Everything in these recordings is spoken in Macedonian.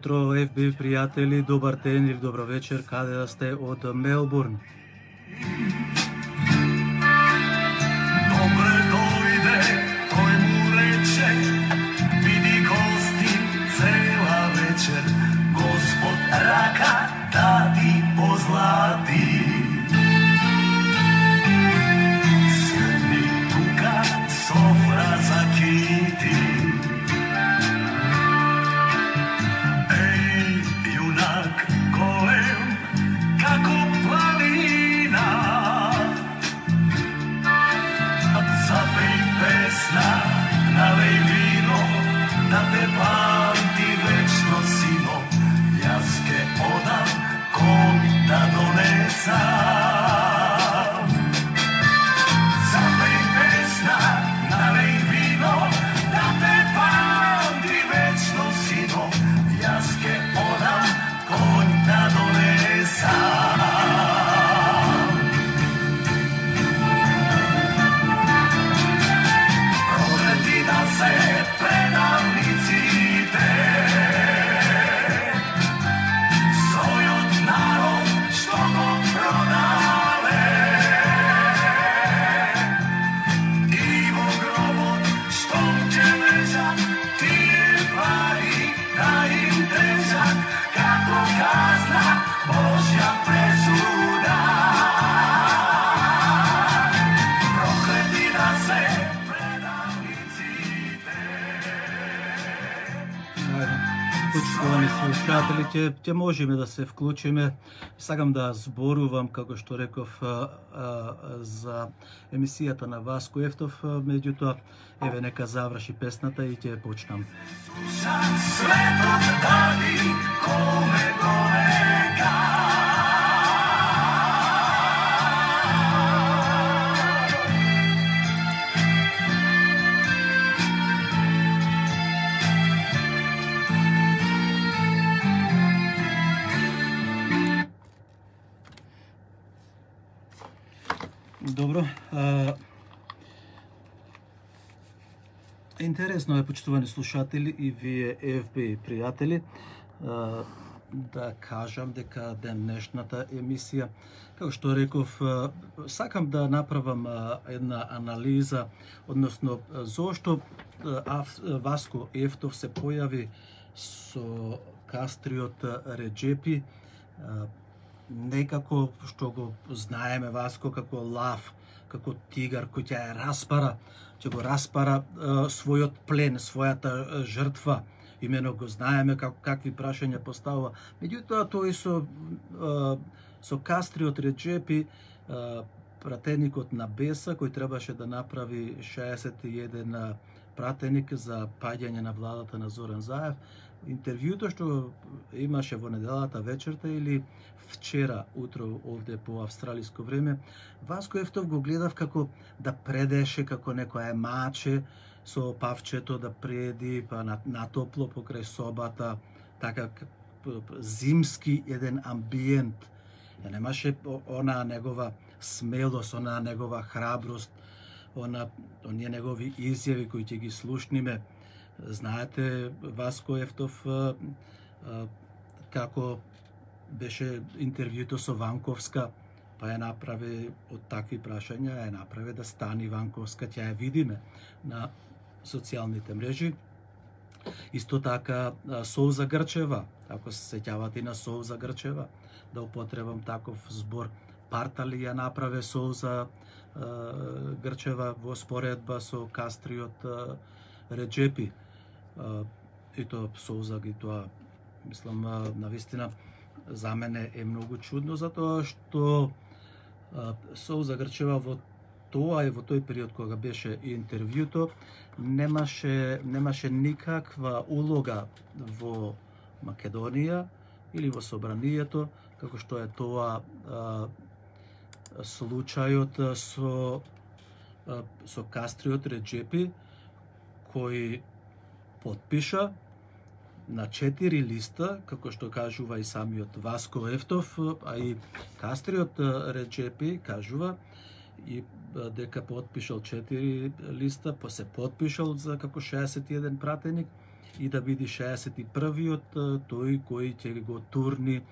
утро, FB пријатели, добар ден или добро вечер, каде да сте од Мелбурн. Добре дојде, тој му рече, види гости цела вечер, Господ рака да ти позлати. Седни тука, софра закити. Налеј вино, да те памти вечно сино, јас ке одам кон да донесам. Запеј песна, налеј вино, да те памти вечно сино, јас ке одам кон да донесам. Предавниците својот народ што го продале и во гробот што ќе лежат тие пари да им држат како казна Божја пресуда. Проклети да се Почитувани слушатели, ќе можеме да се вклучиме. Сакам да зборувам, како што реков, за емисијата на Васко Ефтов, меѓутоа, еве нека заврши песната и ќе почнам. Светот дади коме довега. Добро. Интересно е, почитувани слушатели и вие FB пријатели, да кажам дека денешната емисија, како што реков, сакам да направам една анализа, односно зошто Васко Ефтов се појави со кастриот Реџепи, некако што го знаеме Васко како лав, како тигар кој ќе ја распара, ќе го распара својот плен, својата жртва. Имено го знаеме какви прашања поставува. Меѓутоа тој со кастриот Реџепи, пратеникот на Беса, кој требаше да направи 61 пратеник за паѓање на владата на Зоран Заев, интервјуто што имаше во неделата вечерта или вчера утро овде по австралиско време, Васко Ефтов го гледав како да предеше, како некоја маче со павчето да преди, па на топло покрај собата, така зимски еден амбиент. Ја немаше она негова смелост, она негова храброст, оние негови изјави кои ќе ги слушниме. Знаете, Васко Ефтов како беше интервјуто со Ванковска, па ја направи од такви прашања, ја направи да стани Ванковска, ќе ја видиме на социјалните мрежи. Исто така Соуза Грчева, ако се сеќавате на Соуза Грчева, да употребам таков збор, Партали ја направи Соуза Грчева во споредба со кастриот Реџепи. И тоа Соуза ги тоа, мислам, навистина за мене е многу чудно, затоа што Соуза Грчева во тоа и во тој период кога беше интервјуто немаше никаква улога во Македонија или во собранието, како што е тоа случајот со кастриот Реџепи, кој потпиша на 4 листа, како што кажува и самиот Васко Ефтов, а и кастриот Реџепи кажува и дека потпишал 4 листа, па се потпишал за како 61 пратеник и да биде 61-виот тој кој ќе го турни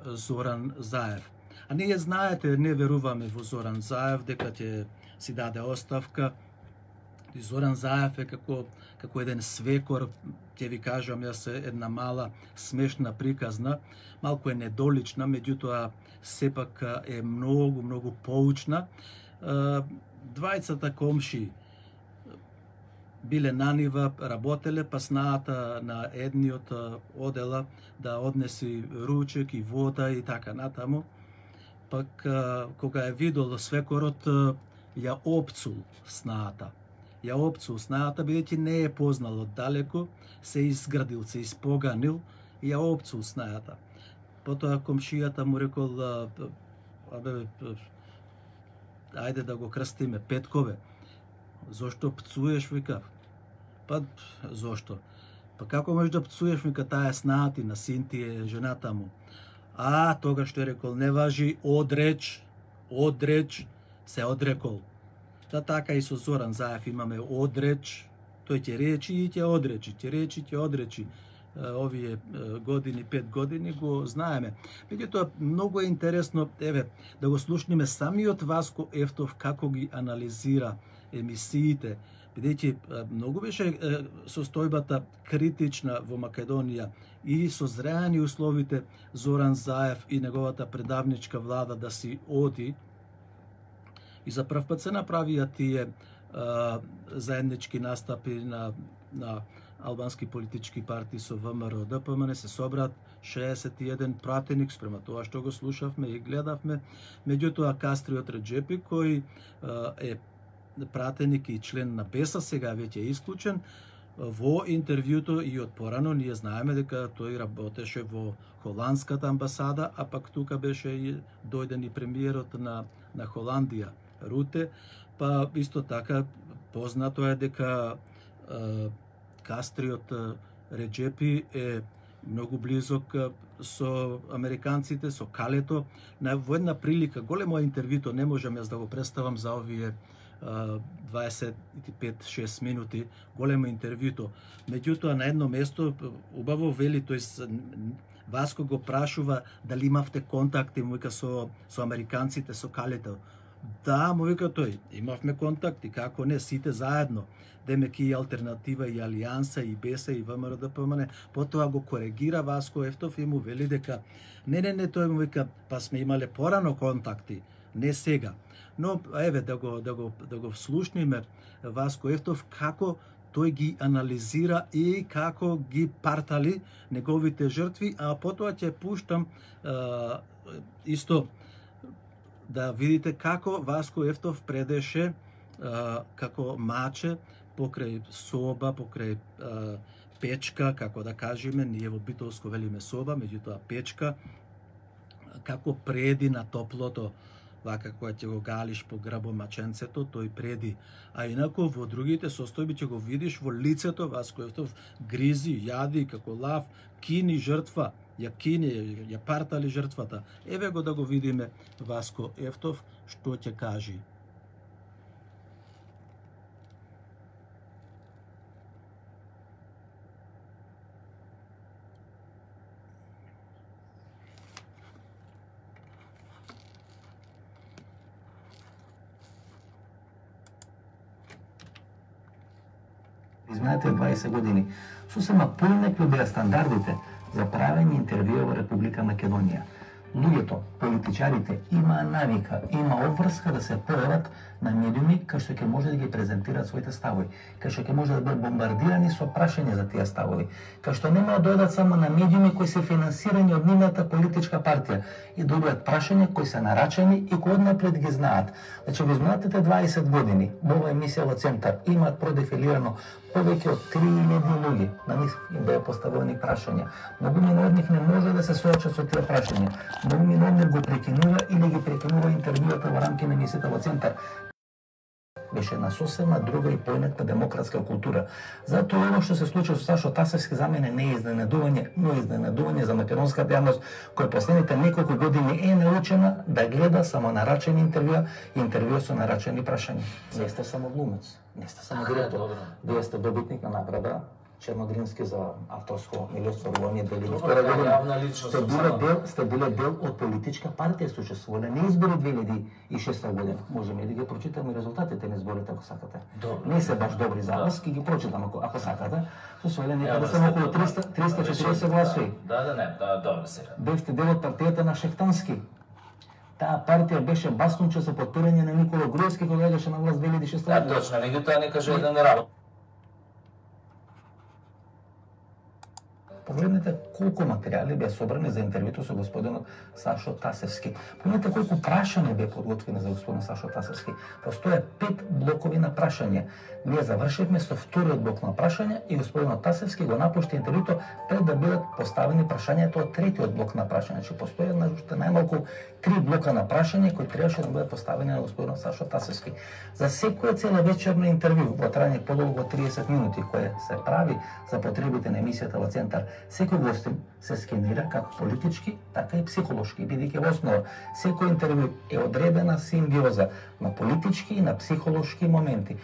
Зоран Заев. А ние знаете, не веруваме во Зоран Заев дека ќе си даде оставка. И Зоран Заев е како еден свекор, ќе ви кажам јас, една мала смешна приказна, малку е недолична, меѓутоа сепак е многу поучна. Двајцата комши биле на нива, работеле, па снаата на едниот одела да однеси ручек и вода и така натаму. Пак кога е видел свекорот, ја опцул снаата. Бидејќи не е познал од далеку, се изградил, се испоганил и ја опцул снаата. Потоа комшијата му рекол, ајде да го крстиме, Петкове. Зошто пцуеш, вика? Па, зошто? Па како можеш да пцуеш, вика, таа е снаатина, син ти е жената му. Тогаш тој рекол, не важи, одреч, се одрекол. Така и со Зоран Заев имаме одреч, тој ќе речи и ќе одречи, овие години, 5 години го знаеме. Меѓутоа, многу е интересно, да го слушнеме самиот Васко Ефтов како ги анализира емисиите, бидејќи многу беше состојбата критична во Македонија и созреани условите Зоран Заев и неговата предавничка влада да си оди. И за прв пат се направија тие заеднички настапи на албански политички партии со ВМРО ДПМН, се собрат 61 пратеник спрема тоа што го слушавме и гледавме. Меѓутоа Кастриот Реджепи, кој е пратеник и член на БЕСА, сега веќе е исклучен, во интервјуто и од порано ние знаеме дека тој работеше во холандската амбасада, а пак тука беше и дојден и премиерот на Холандија, Руте, па исто така познато е дека Кастриот Реджепи е многу близок со американците, со Калето. Во една прилика, големо интервјуто, не можам јас да го представам за овие 25-6 минути, големо интервјуто. Меѓутоа, на едно место, убаво вели, тој Васко го прашува дали имавте контакти, му вика, со американците, со Калето. Да, му вика тој, имавме контакти, како не, сите заедно. Демек и Алтернатива, и Алијанса, и БЕСА, и ВМРО ДПМН. Потоа го коригира Васко Ефтов и му вели дека не, тој му вика, па сме имале порано контакти, не сега. Но еве да го слушниме Васко Ефтов како тој ги анализира и како ги партали неговите жртви, а потоа ќе пуштам исто да видите како Васко Ефтов предеше како маче покрај соба, покрај печка, како да кажеме, ние во битолско велиме соба, меѓутоа печка, како преди на топлото, вака кога ќе го галиш по грбо маченцето, тој преди. А инаку во другите состојби ќе го видиш во лицето Васко Ефтов гризи, јади како лав, кини жртва, ја партали жртвата. Еве го да го видиме Васко Ефтов што ќе кажи. Изминатите 20 години сосема поинакви беа стандардите за правење интервјуа во Република Македонија. Луѓето, политичарите имаа навика, има обврска да се појават на медиуми кај што ќе може да ги презентираат своите ставови, кај што ќе може да бидат бомбардирани со прашања за тие ставови, кај што нема да дојдат само на медиуми кои се финансирани од нивната политичка партија и добијат прашања кои се нарачани и кои однапред ги знаат. Значи, во изминатите 20 години во оваа емисија во Центар имаат продефилирано повеќе од 3000 луѓе. На нив им беа поставени прашања. Многу од нив не може да се соочат со тие прашања. Многу од нив го прекинува или ги прекинува интервјуата во рамки на емисијата во Центар. Беше на сосема друга и поинаква демократска култура. Затоа оно што се случи со Сашо Тасевски за мене не е изненадување, но е изненадување за македонската јавност која последните неколку години е научена да гледа само нарачени интервјуа со нарачени прашања. Не сте само глумец, не сте само директор. Вие сте добитник на награда Чернодрински за авторско милостварување 2002 година. Сте биле дел од политичка партија, сте учествувале на избори 2006 година. Можеме да ги прочитаме резултатите на изборите ако сакате. Не се баш добри за вас, ќе ги прочитам ако сакате. Со свеле некаде се околу 340 гласови. Добро сега. Бевте дел од партијата на Шехтански. Таа партија беше бастунче за потпирање на Никола Груевски кога доаѓаше на власт 2006 година. Точно, меѓутоа не кажа еден работ. Погледнете колку материјали беа собрани за интервјуто со господинот Сашо Тасевски. Погледнете колку прашања беа подготвени за господин Сашо Тасевски. Постоја 5 блокови на прашања. Ние завршивме со вториот блок на прашања и господинот Тасевски го напушти интервјуто пред да бидат поставени прашањата од третиот блок на прашања. Значи постоја најмалку 3 блока на прашања кои требаше да бидат поставени на господинот Сашо Тасевски. За секоја целовечерно интервју во трајање подолго од 30 минути кое се прави за потребите на емисијата во Центар, секој гостин се скенира како политички, така и психолошки, бидејќи во основа секој интервју е одредена симбиоза на политички и на психолошки моменти.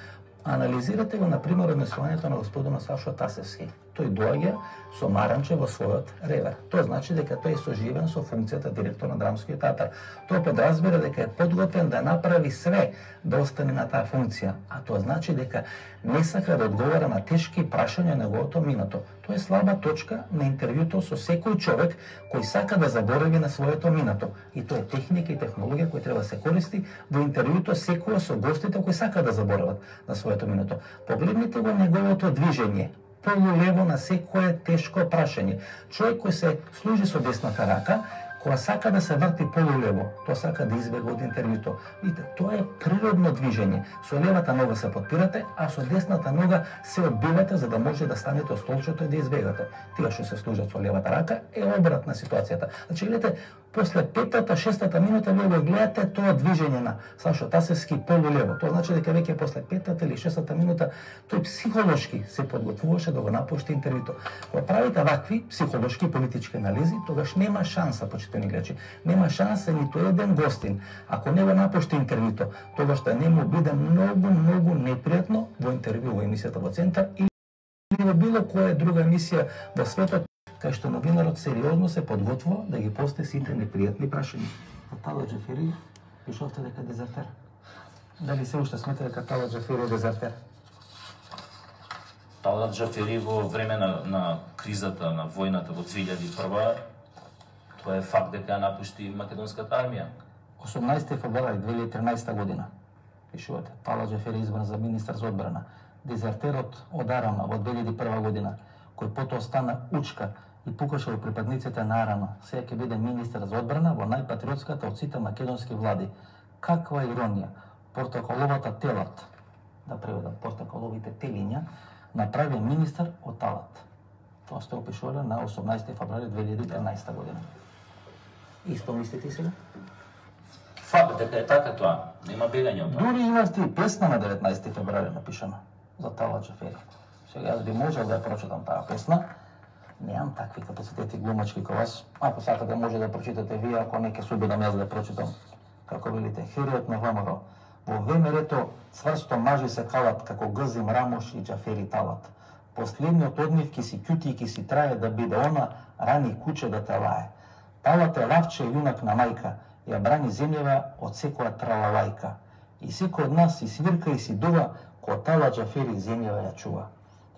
Анализирате го, например, однесувањето на господинот Сашо Тасевски. Тој доаѓа со маранче во својот ревер. Тоа значи дека тој е соживен со функцијата директор на Драмскиот театар. Тоа подразбира дека е подготвен да направи све да остане на таа функција, а тоа значи дека не сака да одговара на тешки прашања на неговото минато. Тоа е слаба точка на интервјуто со секој човек кој сака да заборави на своето минато. И тоа е техника и технологија која треба да се користи во интервјуто секој со гостите кои сака да заборават на своето минато. Погледнете го неговото движење. Полулево на секое тешко прашање. Човек кој се служи со десната рака, кога сака да се врти полулево, тоа сака да избега од интервјуто. Видите, тоа е природно движење. Со левата нога се подпирате, а со десната нога се одбивате за да може да станете од столчето и да избегате. Тие што се служат со левата рака е обратна ситуацијата. Значи, видите, после 5-6 минута вие го гледате тоа движење на Сашо Тасевски полулево. Тоа значи дека веќе после 5 или 6 минута тој психолошки се подготвуваше да го напушти интервјуто. Кога правите вакви психолошки политички анализи, тогаш нема шанса, почитани гледачи, нема шанса ниту еден гостин, ако не го напушти интервјуто, тогаш да не му биде многу непријатно во интервју во емисијата во Центар или во било која друга емисија во светот, кај што новинарот сериозно се подготвува да ги посте сите непријатни прашања. Тала Џафери, пишовте дека дезертер. Дали се уште смета дека Тала Џафери е дезертер? Тала Џафери во време на кризата, на војната во 2001, тоа е факт дека ја напушти македонската армија. 18 февруари 2013 година, пишувате, Тала Џафери избран за министар за одбрана. Дезертерот од Арана во 2001 година, кој потоа стана учка и покажал припадниците на Арана, сега ќе биде министар за одбрана во најпатриотската од сите македонски влади. Каква иронија! Портокаловата телат, да преведам, портокаловите телиња, направи министар од Талат. Тоа сте опишувале на 18 февруари 2013 година. Исто мислите сега? Факт дека е така тоа, нема бегање од тоа. Дури имавте и песна на 19 февруари напишана за Тала Џафери. Сега јас би можел да ја прочитам таа песна. Немам такви капацитети глумачки како вас. Ако сакате може да прочитате вие, ако не ќе се обидам јас да прочитам. Како велите, Хериот на ВМРО. Во ВМРО цврсто мажи се калат како Гзим Рамош и Џафери Талат. Последниот од нив ки си кјути и ки си трае да биде она рани куче да те лае. Талат е лавче јунак на мајка, ја брани земјава од секоја тралалајка. И секој од нас си свирка и си дува, кој Тала Џафери земјава ја чува.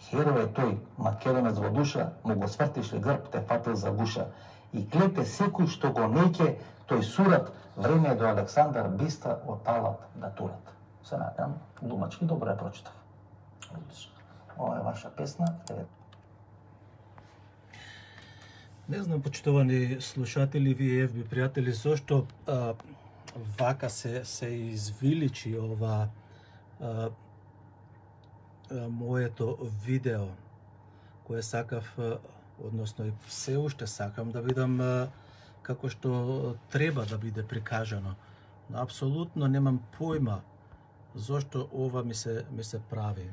Херој е тој, македонец во душа, му го свртише грб, те фатил за гуша. И клете секој што го неќе, тој сурат, време е до Александар Биста од Талат да турат. Се надам, думачки добро ја прочитав. Ова е ваша песна. Не знам, почитувани слушатели, вие FB пријатели, зошто вака се извиличи ова моето видео, кое сакав, односно и се уште сакам да бидам како што треба да биде прикажано. Но апсолутно немам појма зошто ова ми се прави.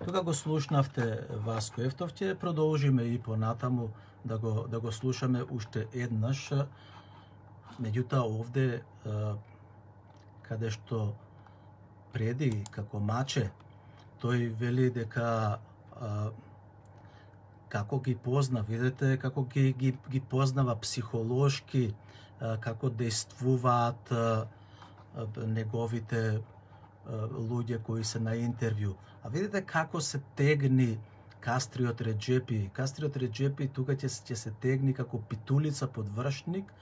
Тога го слушнавте Васко Ефтов, ќе продолжиме и понатаму да го слушаме уште еднаш. Меѓутоа овде каде што преди како маче, тој вели дека како ги позна, видите како ги познава психолошки, како действуваат неговите луѓе кои се на интервју. А видите како се тегни Кастриот Реџепи. Кастриот Реџепи тука ќе се тегни како питулица под вршник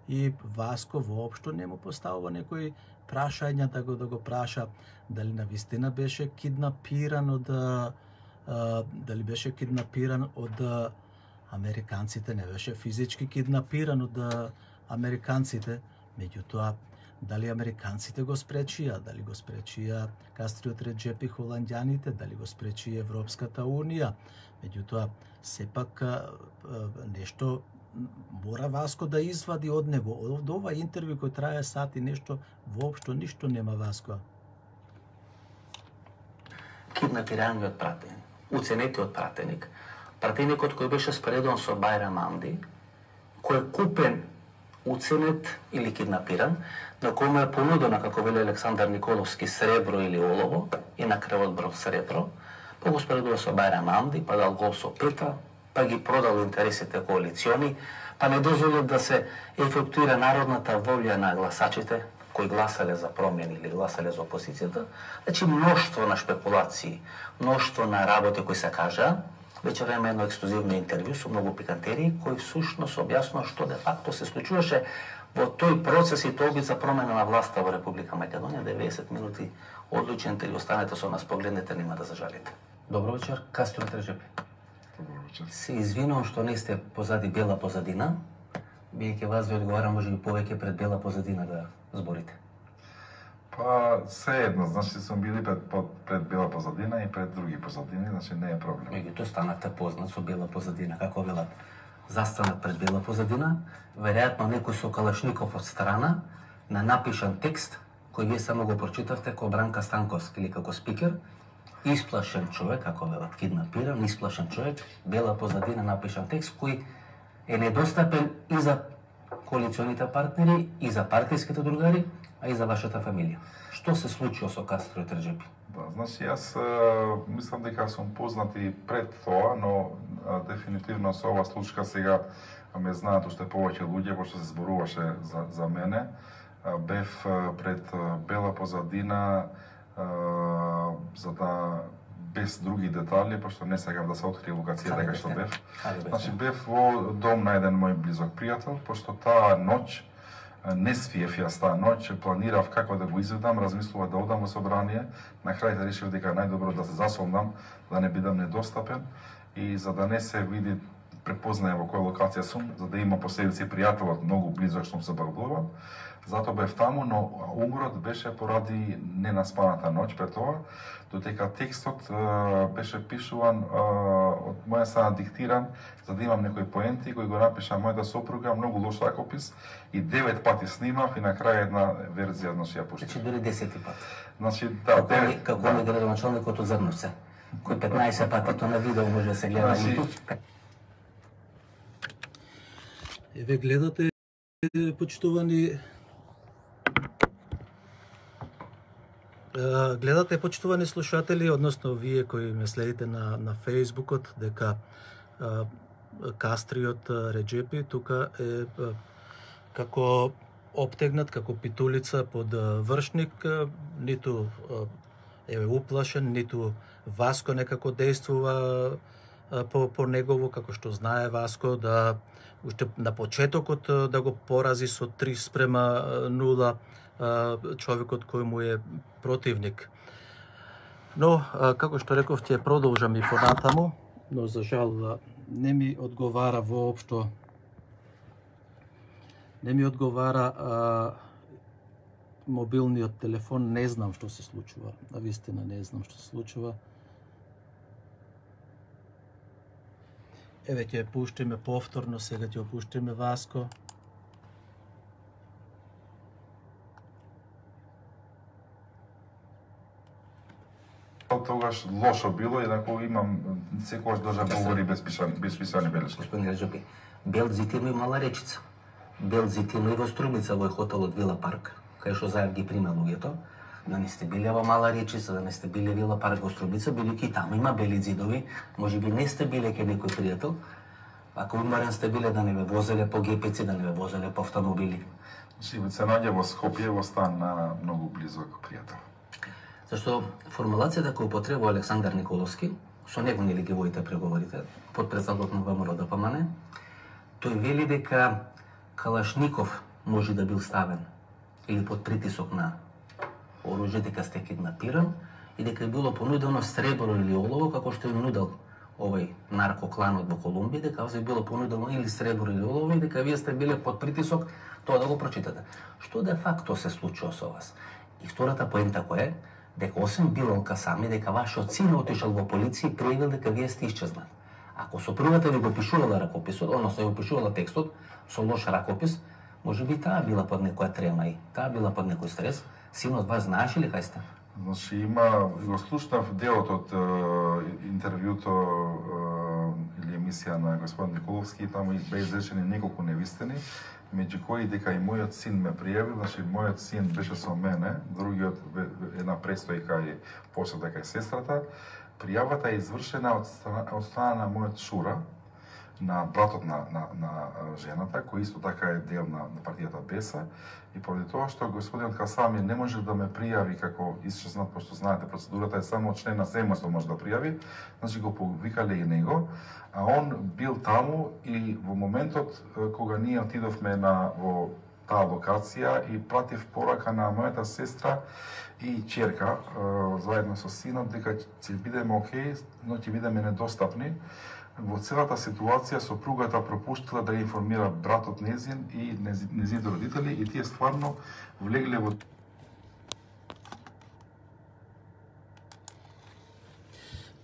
и Васко воопшто не му поставува некои прашања да го праша дали навистина беше киднапиран од американците, не беше физички киднапиран од американците, меѓутоа дали американците го спречија, дали го спречија Кастриот Реџепи холандјаните, дали го спречи Европската унија, меѓутоа сепак нешто мора Васко да извади од него. Од ова интервју кој трае сат и нешто, воопшто ништо нема Васко. Киднапираниот пратеник, уценетиот пратеник, пратеникот кој беше споредуван со Бајрам Амди, кој е купен, уценет или киднапиран, на кој му е понудено, како вели Александар Николовски, сребро или олово, и на крај одбрал сребро, па го споредува со Бајрам Амди, па дал гол со пета, па ги продал интересите коалициони, па не дозволил да се ефектуира народната волја на гласачите кои гласале за промени или гласале за опозицијата. Значи мноштво на шпекулации, мноштво на работи кои се кажа. Вечера има едно ексклузивно интервју со многу пикантерии кој всушност објаснува што де факто се случуваше во тој процес и толби за промена на власта во Република Македонија. 90 минути одлучен интервју, останете со нас, погледнете, нема да зажалите. Добро вечер, Кастриот Реџепи. Се извинувам што не сте позади бела позадина, биејќи вас ви одговарам можеби повеќе пред бела позадина да зборите. Па, се едно, значи сум били пред бела позадина и пред други позадини, значи не е проблем. Меѓутоа станате познат со бела позадина, како велат. Застанат пред бела позадина, веројатно некој со калашников од страна, на напишан текст, кој вие само го прочитавте како Бранка Станковски или како спикер, исплашен човек, како велат, киднапиран, исплашен човек, бела позадина напишан текст кој е недостапен и за коалиционите партнери, и за партиските другари, а и за вашата фамилија. Што се случило со Кастриот Реџепи? Да, значи јас мислам дека сум познат и пред тоа, но дефинитивно со ова случка сега ме знаат уште повеќе луѓе, пошто се зборуваше за мене. Бев пред бела позадина за да без други детали, пошто не сакам да се открие локацијата кај што бев. Значи бев во дом на еден мој близок пријател, пошто таа ноќ не свиев јас таа ноќ, планирав како да го изведам, размислував да одам во собрание, на крај решив дека најдобро да се засолнам, да не бидам недостапен и за да не се види препознае во која локација сум, за да има последици пријателот многу близок што се баглувам. Затоа бев таму, но уморот беше поради ненаспаната ноќ пред тоа, додека текстот беше пишуван од моја страна диктиран, за да имам некои поенти кои го напиша мојата сопруга, многу лош ракопис и 9 пати снимав и на крај една верзија, значи ја пуштив. Значи дури 10 пати. Значи да, како не градоначалникот од Зрновце, кој 15 пати тоа на видео може да се гледа. Еве гледате, почитувани слушатели, односно вие кои ме следите на Фејсбукот, дека Кастриот Реџепи тука е како обтегнат, како питулица под вршник, ниту е уплашен, ниту Васко некако действува по негово, како што знае Васко, да уште на почетокот да го порази со 3:0 човекот кој му е противник. Но, како што реков, ќе продолжам и понатаму, но за жал не ми одговара воопшто. Не ми одговара мобилниот телефон, не знам што се случува. Навистина не знам што се случува. Еве ќе пуштиме повторно, сега ќе опуштиме Васко. Тогаш лошо било, инаку имам секогаш должен говори без писани белешки. Господин Реџепи, Белзит има и мала речица. Белзит има и во Струмица, во хотелот Вила Парк, кај што заедно ги прима луѓето. да не сте биле во Мала Речица, да не сте биле Вила Парк во Струмица, бидејќи таму има бели ѕидови, можеби не сте биле ке некој пријател, ако уморен сте биле да не ве возеле по гепеци, да не ве возеле по автомобили. Значи, се наѓа во Скопје, во стан на многу близок пријател. Зашто формулацијата која употребува Александар Николовски, со него нели ги водите преговорите, подпредседател на ВМРО ДПМН, тој вели дека Калашников може да бил ставен или под притисок на оружје, дека сте киднапиран и дека било понудено сребро или олово, како што им нудел овој наркокланот во Колумбија, дека се било понудено или сребро или олово и дека вие сте биле под притисок тоа да го прочитате. Што де факто се случува со вас? И втората поента која е, дека освен Билал Касами, дека вашиот син отишел во полиција и пријавил дека вие сте исчезнали. Ако сопругата ви го пишувала ракописот, односно го пишувала текстот со лош ракопис, може би таа била под некоја трема и таа била под некој стрес. Синот вас знаеше ли кај сте? Значи има, го слушнав делот од интервјуто или емисија на господин Николовски, таму беа изречени неколку невистини, меѓу кои дека и мојот син ме пријавил, значи мојот син беше со мене, другиот една престојка и посета кај сестрата. Пријавата е извршена од страна на мојот шура, на братот на жената, кој исто така е дел на партијата БЕСА, и поради тоа што господин Касами не може да ме пријави како исчезнат, пошто знаете процедурата е само член на семејство може да пријави, значи го повикале и него, а он бил таму и во моментот кога ние отидовме во таа локација и пратив порака на мојата сестра и ќерка заедно со синот дека ќе бидеме окей, но ќе бидеме недостапни. Во целата ситуација сопругата пропуштила да информира братот незин и незините родители и тие стварно влегле во...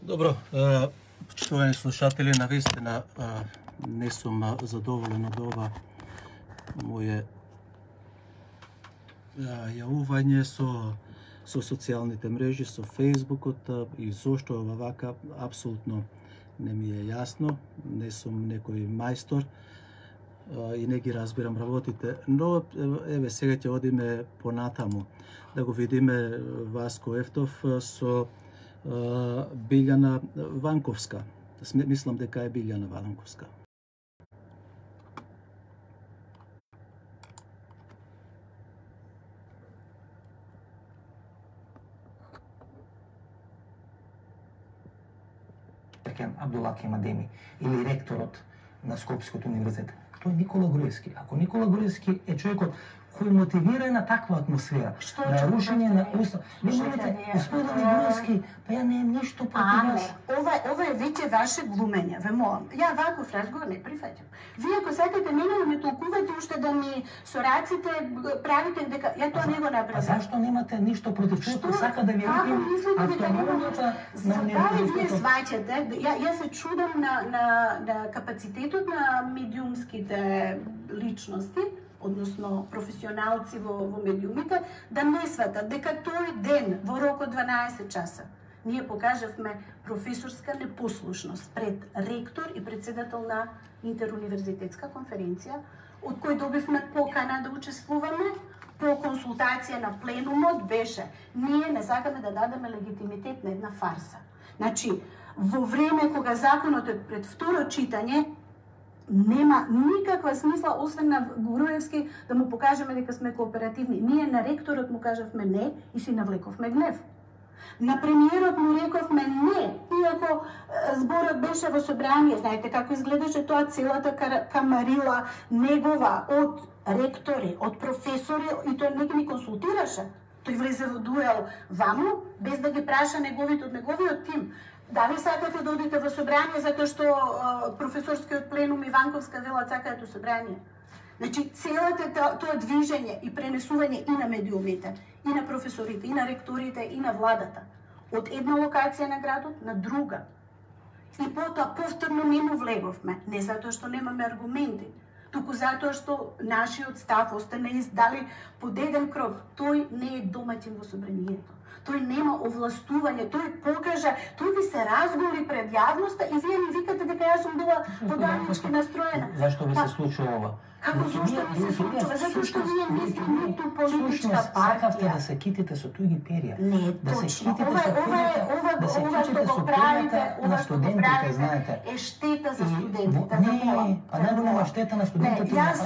Добро, почитувани слушатели, навистина не сум задоволен од ова моје јавување со социјалните мрежи, со Фејсбукот и зошто ова вака, апсолутно не ми е јасно, не сум некој мајстор и не ги разбирам работите, но еве сега ќе одиме понатаму да го видиме Васко Ефтов со Билјана Ванковска. Мислам дека е Билјана Ванковска. Абдулаки Мадеми или ректорот на Скопскиот универзитет. Тој е Никола Груевски. Ако Никола Груевски е човекот кој мотивира на таква атмосфера, на рушење на устав. Господин Груевски, па ја немам ништо против вас. Ова е веќе ваше глумење, ве молам. Ја ваков разговор не прифаќам. Вие ако сакате мене да ме толкувате уште да ми со раците правите дека ја тоа не го направам. А зашто немате ништо против човекот сака да ви рекне автономијата на универзитетот? Вие сваќате, ја се чудам на капацитетот на медиумските личности, односно професионалци во медиумите, да не сватат дека тој ден во рок од 12 часа ние покажавме професорска непослушност пред ректор и председател на интеруниверзитетска конференција, од кој добивме покана да учествуваме. По консултација на пленумот беше ние не сакаме да дадеме легитимитет на една фарса. Значи, во време кога законот е пред второ читање, нема никаква смисла, освен на Груевски, да му покажеме дека сме кооперативни. Ние на ректорот му кажавме не и си навлековме гнев. На премиерот му рековме не, иако зборот беше во собрание. Знаете како изгледаше тоа, целата камарила негова од ректори, од професори, и тој не ги консултираше. Тој влезе во дуел ваму, без да ги праша неговите од неговиот тим. Дали сакате да одите во собрание затоа што професорскиот пленум и Ванковска велат сакаат во собрание? Значи, целото тоа движење и пренесување и на медиумите, и на професорите, и на ректорите, и на владата, од една локација на градот на друга. И потоа повторно не му влеговме, не затоа што немаме аргументи, туку затоа што нашиот став остане издали под еден кров. Тој не е домаќин во собранието. тој нема овластување, тој покажа, тој ви се разголи пред јавноста и вие ми викате дека јас сум била поданички настроена. Зашто ви се случува ова? Како зашто ми се случува? Затоа што ние не сме ниту политичка сакавте партија. да се китите со туѓи перја. Не, да се точно. китите со перјата, да се Ова што китите го со правите, перјата на ова што го студентите, правите знаете. е штета за студентите. Не, па не нема штета на студентите, Не, јас,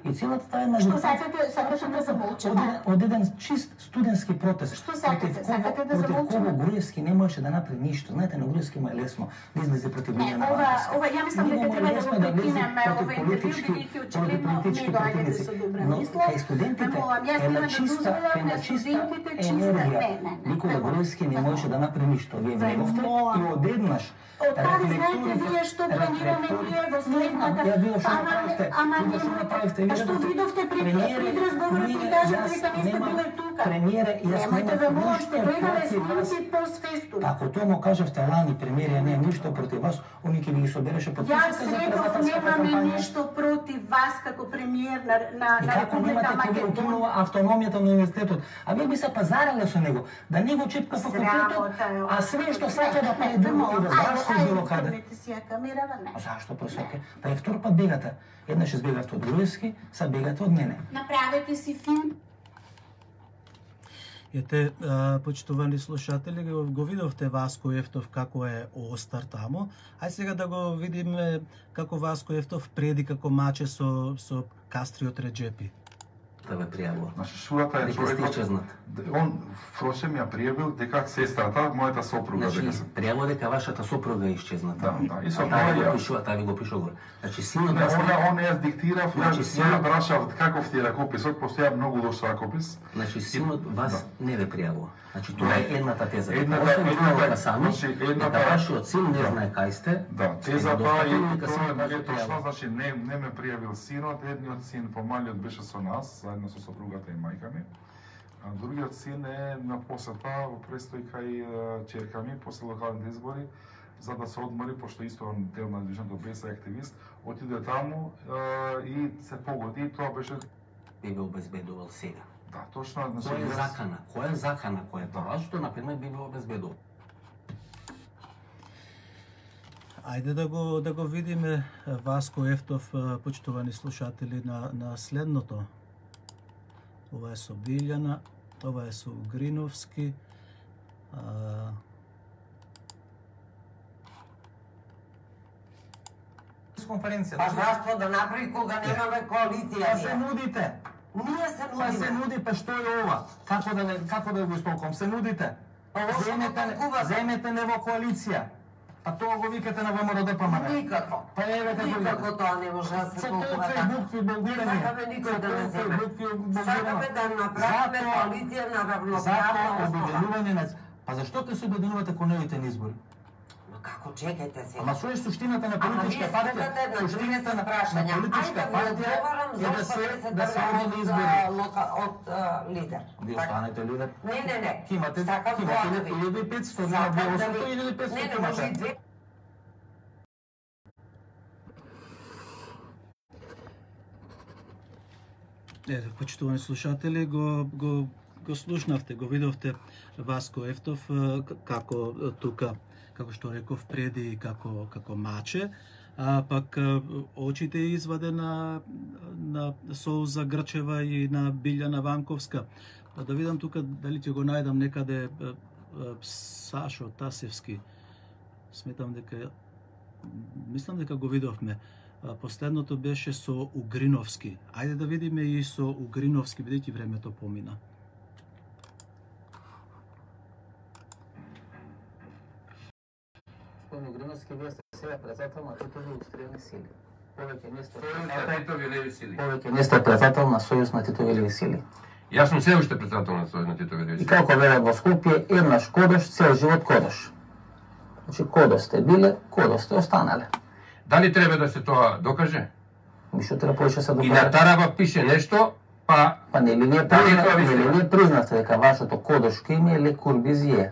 и целата таа една Што сакате да замолчам? од еден чист студентски протест. Што сакате? Сакате да замолчам? Против кого Груевски не можеше да направи ништо. Знаете, на Груевски му е лесно да излезе против Билјана Ванковска. Ова ја мислам дека треба да го прекинеме ова интервју, бидејќи очигледно не доаѓате со добра мисла. Кај студентите јас нема да дозволам на студентите чиста Никола Груевски не можеше да направи ништо. Вие влеговте и одеднаш Од каде знаете вие што планираме ние во следната? Ама не, што видовте пред разговорот и кажете дека не сте биле тука. Премиере, јас немате да можете, гледале снимки постфестум. Ако тоа му кажавте лани, премиере, не ништо против вас, они ќе ви ги собереше под Јас реков немаме ништо против вас како премиер на Република Македонија. Автономијата на универзитетот, а вие би се пазарале со него, да не го чепка факултетот, а све што сака да прави друго и во здравство и било каде. А зашто пресоке? Па е втор пат бегате. Еднаш избегавте од Груевски, са бегате од мене. Направете си филм. Ете, почитувани слушатели, го видовте Васко Ефтов како е остар таму. Ај сега да го видиме како Васко Ефтов преди како маче со Кастриот Реджепи. Да ве пријавува. Значи, Шурата е човекот. Он впрочем ја пријавил дека сестрата, мојата сопруга, значи, дека се пријавува дека вашата сопруга е исчезната. Да, и со тоа таа ви го пишува горе. Значи синот он јас диктирав, ја прашав каков ти е ракописот, постоја многу лош ракопис. Значи синот вас не ве пријавува. Значи тоа е едната теза. Едната сами, дека вашиот син не знае кај сте. Да, тезата и тоа е точно, значи не ме пријавил синот, едниот син помалиот беше со нас, заедно со сопругата и мајка ми. А другиот син е на посета во престој кај ќерка ми после локалните избори, за да се одмори, пошто исто он дел на движењето БЕС активист, отиде таму и се погоди, тоа беше би го обезбедувал сега. Да, точно, значи кој е закана? Кој е закана? Кој е тоа што на пример би го обезбедувал? Ајде да го видиме Васко Ефтов, почитувани слушатели, на следното. Ова е со Билјана, ова е со Угриновски. Конференција. Па зашто да направи кога немаме коалиција? Па се нудите. Ние се нудиме. Па се нуди, па што е ова? Како да го истолкам? Се нудите. Земете не во коалиција. А тоа го викате на ВМРО ДПМН. Никако. Па еве како никако тоа не може да се толкува така. Букви блогирање. Сакаме никој да не земе. Сакаме да направиме коалиција на равноправна основа. Па зашто ќе се обединувате кон овите избори? Како чекајте се?Ама што е суштината на политичка партија? Суштината на прашања. Политичка партија е да се оди избори од лидер. Ви останете лидер? Не. Имате 1500 на Белосото или 500 имате? Почитувани слушатели, го слушнавте, го видовте Васко Ефтов како тука, како што реков преди, како маче, а пак очите изваде на Соуза Грчева и на Билјана Ванковска. Па да видам тука дали ќе го најдам некаде Сашо Тасевски. Мислам дека го видовме. Последното беше со Угриновски. Ајде да видиме и со Угриновски, бидејќи времето помина. Угриновски, вие сте сега председател на Титови индустријални сили. Повеќе не сте председател на Сојуз на Титови леви сили. Јас сум се уште председател на Сојуз на Титови леви сили. И како велат во Скопје, еднаш кодош, цел живот кодош. Значи, кодош сте биле, кодош сте останале. Дали треба да се тоа докаже? Мишто треба повеќе се докаже. И на тарава пише нешто, па нели вие признавте дека вашето кодошко име е Ле Корбузие?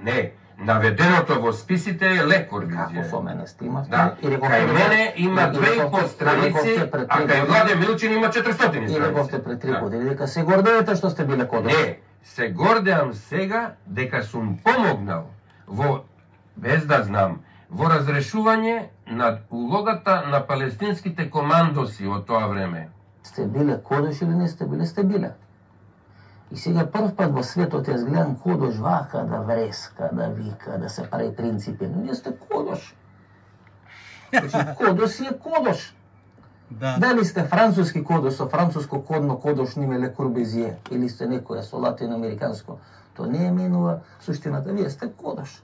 Не, наведеното во списите е Ле Корбузие. Како со мене сте имавте? Да, кај мене има 2,5 страници, а кај Владе Милчин има 400 страници. И рековте пред 3 години дека се гордеете што сте биле кодош. Не, се гордеам сега дека сум помогнал без да знам, во разрешување на улогата на палестинските командоси од тоа време. Сте биле Кодош или не сте биле, сте биле. И сега прв пат во светот јас гледам Кодош вака да вреска, да вика, да се прави принципи. Но вие сте Кодош. Значи, Кодош си е Кодош. Да. Дали сте француски Кодош, со француско кодно Кодош ниме Ле Корбузие, или сте некоја со латиноамериканско, то не е менува суштината, вие сте Кодош.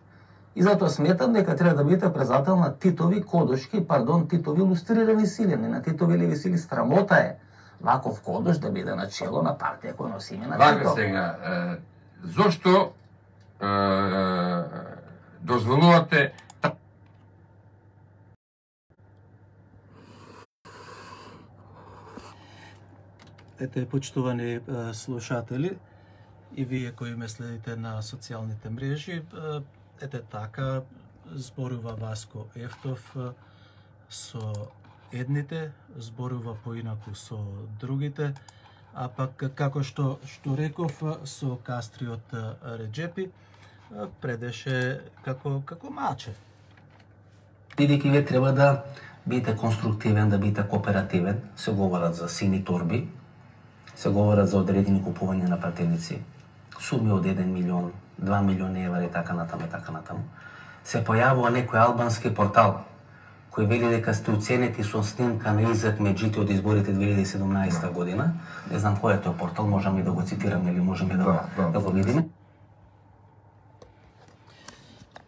И затоа сметам дека треба да бидете презател на Титови Кодошки, Титови илустрирани сили, не на Титови леви сили. Срамота е ваков Кодош да биде на чело на партија која носи име на Тито. Вака сега, зошто дозволувате Ете, почитувани слушатели, и вие кои ме следите на социјалните мрежи, ете така зборува Васко Ефтов со едните, зборува поинаку со другите, а пак како што реков со Кастриот Реджепи предеше како маче. Бидејќи вие треба да бидете конструктивен, да бидете кооперативен, се говорат за сини торби, се говорат за одредени купување на пратеници, суми од 1 милион, 2 милиони евра и така натаму. Се појавува некој албански портал кој вели дека сте уценети со снимка на Изак Меджити од изборите 2017 година. Не знам кој е тој портал, можам и да го цитирам или можеме да го видиме.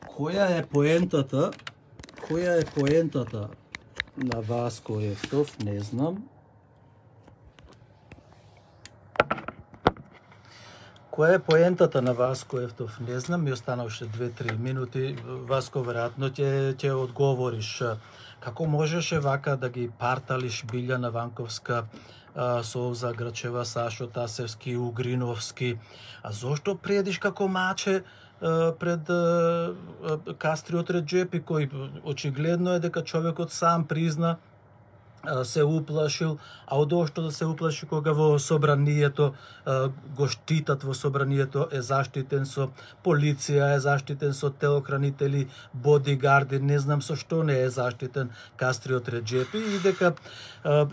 Која е поентата на Васко Ефтов, не знам. Која е поентата на Васко Ефтов, не знам, ми останавше 2-3 минути. Васко, веројатно ќе одговориш. Како можеше вака да ги парталиш Билјана Ванковска, Совза Грачева, Сашо Тасевски, Угриновски? А зошто предиш како маче пред Кастриот Реджепи, кој очигледно е дека човекот сам призна се уплашил, а одошто да се уплаши кога во собранието го штитат, во собранието е заштитен со полиција, е заштитен со телохранители, бодигарди, не знам со што не е заштитен Кастриот Реджепи, и дека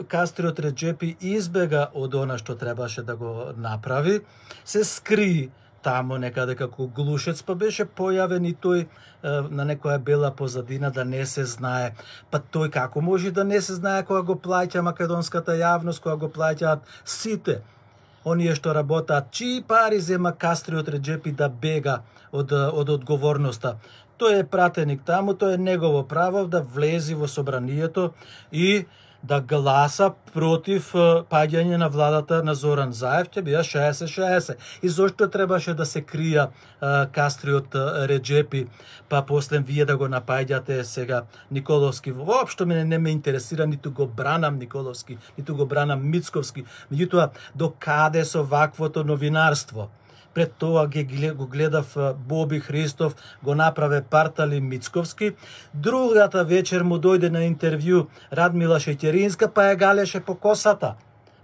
Кастриот Реджепи избега од она што требаше да го направи, се скри таму некаде како глушец, па беше појавен и тој на некоја бела позадина да не се знае. Па тој како може да не се знае кога го плаќа македонската јавност, кога го плаќаат сите оние што работаат, чии пари зема Кастриот Реджепи да бега од одговорноста. Тој е пратеник таму, тој е негово право да влези во собранието и да гласа против паѓање на владата на Зоран Заев, ќе бија 60-60. И зошто требаше да се крија Кастриот Реджепи, па после вие да го напаѓате сега Николовски? Воопшто не ме интересира, ниту го бранам Николовски, ниту го бранам Мицковски. Меѓутоа, до каде со ваквото новинарство? Пред тоа го гледав Боби Христов, го направе партали Мицковски. Другата вечер му дојде на интервју Радмила Шеќеринска, па ја галеше по косата.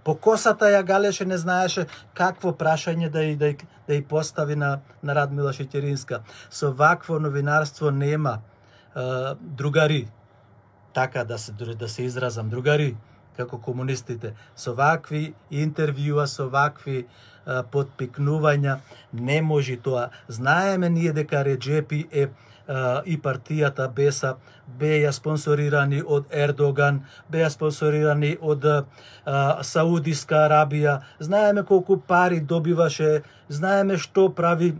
По косата ја галеше, не знаеше какво прашање да ја постави на Радмила Шеќеринска. Со вакво новинарство нема, другари, така да се изразам, другари, како комунистите. Со вакви интервјуа, со вакви подпикнувања не може тоа. Знаеме ние дека Реджепи и партијата БЕСА беа спонсорирани од Ердоган, беа спонсорирани од Саудиска Арабија. Знаеме колку пари добиваше, знаеме што прави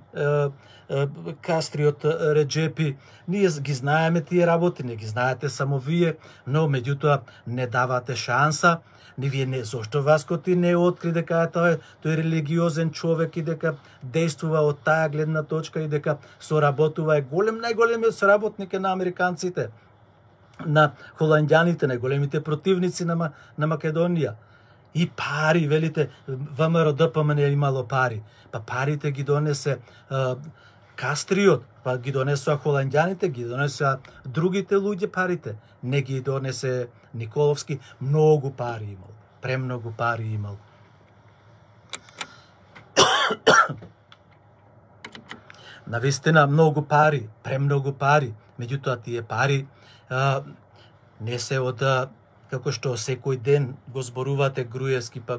Кастриот Реджепи. Ние ги знаеме тие работи, не ги знаете само вие, но меѓутоа не давате шанса. Вие не, зошто Васко ти не откри дека тој религиозен човек и дека действува од таа гледна точка и дека соработува, е најголемиот соработник на американците, на холандјаните, најголемите противници на Македонија. И пари, велите, ВМРО ДПМН е имало пари. Па парите ги донесе Кастриот, па ги донесоа холандјаните, ги донесоа другите луѓе парите. Не ги донесе Николовски, многу пари имал, премногу пари имал. навистина многу пари, премногу пари, меѓутоа тие пари не се од како што секој ден го зборувате Груевски, па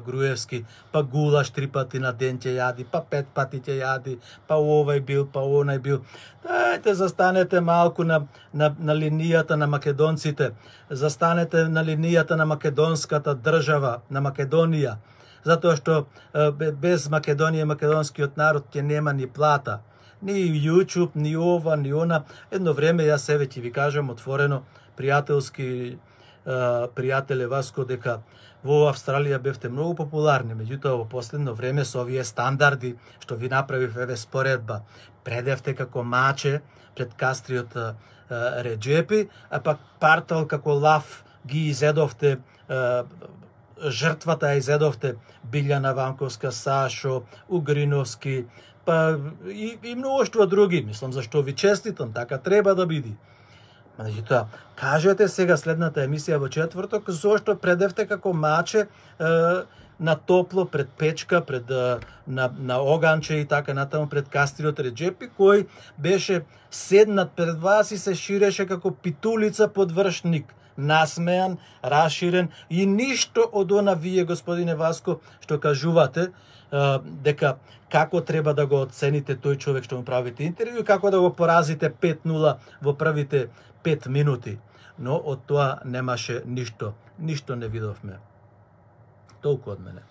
гулаш 3 пати на ден ќе јади, па 5 пати ќе јади, па овој бил, па онај бил. Дајте, застанете малку на линијата на македонците, застанете на линијата на македонската држава, на Македонија, затоа што без Македонија македонскиот народ ќе нема ни плата, ни YouTube, ни ова, ни она. Едно време, јас себе ќе ви кажам отворено, пријателски, пријателе Васко, дека во Австралија бевте многу популарни, меѓутоа во последно време со овие стандарди што ви направив еве споредба, предевте како маче пред кастриот Реджепи, а пак партал како лав ги изедовте, жртвата ја изедовте Билјана Ванковска, Сашо, Угриновски, па и многуштво други. Мислам, зашто ви честитам, така треба да биде. Меѓутоа, кажете сега следната емисија во четврток, зошто предевте како маче на топло, пред печка, пред на оганче и така натаму пред кастриот Реджепи, кој беше седнат пред вас и се ширеше како питулица под вршник, насмеан, расширен и ништо од она вие, господине Васко, што кажувате, дека како треба да го оцените тој човек што му правите интервју и како да го поразите 5-0 во првите 5 минути. Но од тоа немаше ништо не видовме. Толку од мене.